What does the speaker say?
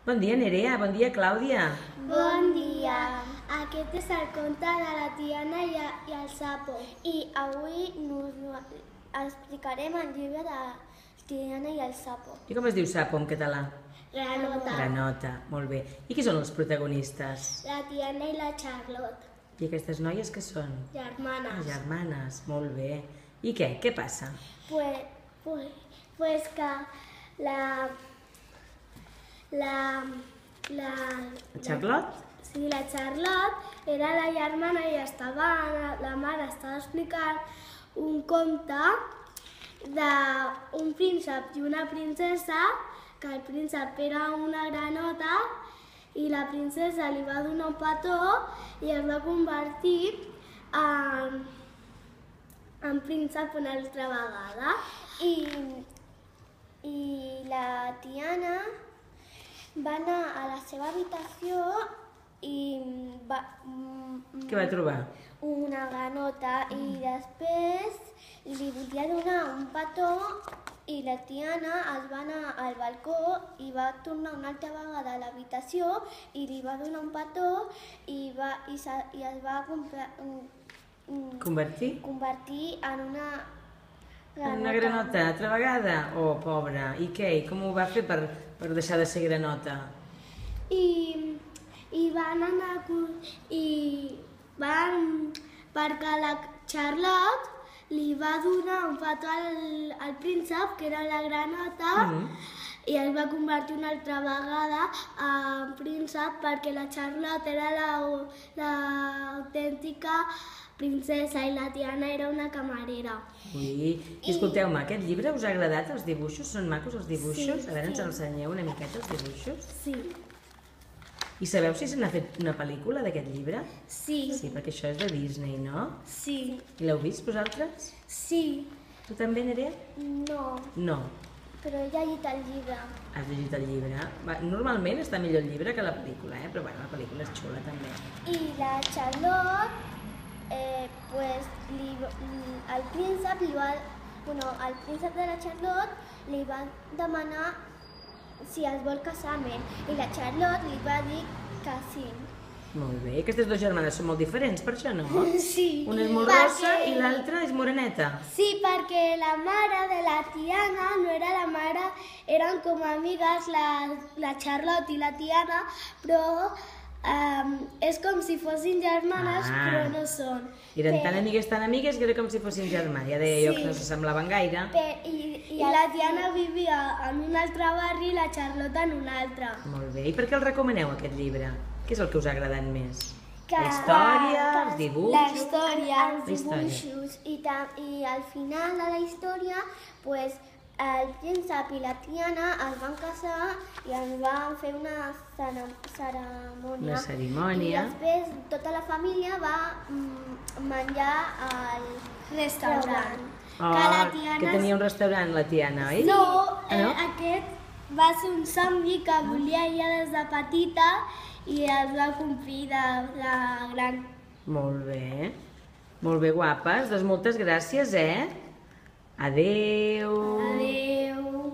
Bon dia, Nerea. Bon dia, Clàudia. Bon dia. Aquest és el conte de la Tiana i el sapo. I avui explicarem el llibre de Tiana i el sapo. I com es diu sapo en català? Granota. Granota, molt bé. I qui són els protagonistes? La Tiana i la Charlotte. I aquestes noies què són? Germanes. Germanes, molt bé. I què? Què passa? Pues que la Charlotte? Sí, la Charlotte era la germana i la mare estava explicant un conte d'un príncep i una princesa, que el príncep era una granota i la princesa li va donar un petó i es va convertir en príncep una altra vegada. I la Tiana va anar a la seva habitació i Què va trobar? una granota i després li volia donar un petó i la Tiana es va anar al balcó i va tornar una altra vegada a l'habitació i li va donar un petó i es va convertir en una granota. Una granota, altra vegada? Oh, pobra. I què? I com ho va fer per deixar de ser granota? I van anar perquè la Charlotte li va donar un petó al príncep, que era la granota, i es va convertir una altra vegada en príncep perquè la Charlotte era l'autèntica princesa i la Tiana era una camarera. Ui, i escolteu-me, aquest llibre us ha agradat, els dibuixos? Són macos els dibuixos? Sí, A veure, ens sí. ensenyeu una miqueta els dibuixos? Sí. I sabeu si se n'ha fet una pel·lícula d'aquest llibre? Sí. Sí, perquè això és de Disney, no? Sí. I l'heu vist vosaltres? Sí. Tu també, Nerea? No, No. però he llegit el llibre. Has llegit el llibre? Normalment està millor el llibre que la pel·lícula, però bueno, la pel·lícula és xula també. I la Charlotte, el príncep de la Charlotte li va demanar si es vol casar amb ell. I la Charlotte li va dir que sí. Molt bé. Aquestes dues germanes són molt diferents, per això, no? Sí. Una és molt rossa i l'altra és moreneta. Sí, perquè la mare de la Tiana no era la mare, eren com amigues la Charlotte i la Tiana, però és com si fossin germanes, però no són. Eren tan amigues que era com si fossin germans. Ja deia jo que no s'assemblaven gaire. I la Tiana vivia en un altre barri i la Charlotte en un altre. Molt bé. I per què el recomaneu, aquest llibre? Què és el que us ha agradat més? La història, els dibuixos? La història, els La història. dibuixos. I al final de la història, el príncep i la Tiana es van casar i es van fer una cerimònia. Una cerimònia. I després tota la família va menjar al restaurant. Que tenia un restaurant, la Tiana, oi? No, no? aquest va ser un somni que volia ella des de petita i es va complir de gran. Molt bé. Molt bé, guapes. Doncs moltes gràcies, eh? Adéu. Adéu.